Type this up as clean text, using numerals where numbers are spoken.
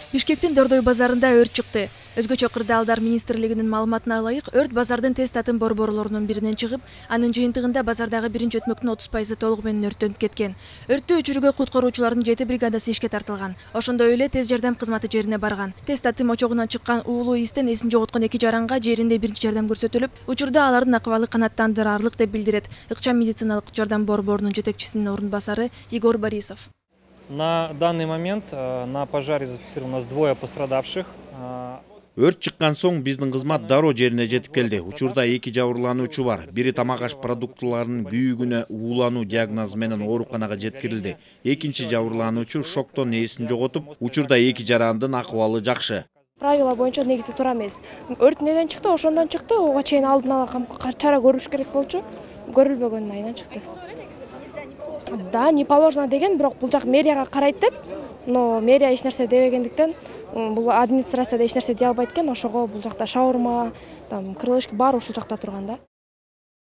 Бишкектин Дордой базарында өрт чыкты. Өзгөчө кырдаалдар министрлигинин маалыматына ылайык, өрт базардын тез татын борборлорунун биринен чыгып, анын жыйынтыгында базардагы биринчи өтмөктүн 30% толугу менен өрттөнүп кеткен. Өрттү өчүрүүгө куткаруучулардын 7 бригадасы ишке тартылган. Ошондой эле тез жардам кызматы жерине барган. Тез татым очогунан чыккан уулуу истен эсин жоготкон 2 жаранга жеринде биринчи жардам көрсөтүлүп, учурда алардын акыбалы канааттандырарлык деп билдирет Ыкчам медициналык жардам борборунун жетекчисинин орун басары Егор Борисов. На данный момент на пожаре зафиксировано у нас 2 пострадавших. Өрт чыккан соң биздин кызмат дароо жерине жетип келди. Учурда 2 жабырлануучу бар. Бири тамак аш продуктуларынын күйүүгүнө уулануу диагнозу менен ооруканага жеткирилди. Экинчи жабырлануучу шоктон эсин жоготуп, учурда 2 жарандын акыбалы жакшы. Правила боюнча негизи туура эмес. Өрт неден чыкты, ошондон чыкты. Ого чейин алдын ала чара көрүш керек болчу. Көрүлбөгөнүн айынан чыкты. Да, не положено деген, бирок бул жак мэрияга карайт деп, но мэрия эч нерсе дебегендиктен, бул администрацияда эч нерсе дей албайт экен, ошого бул жакта шаурма, крылышка баары ушул жакта турган да.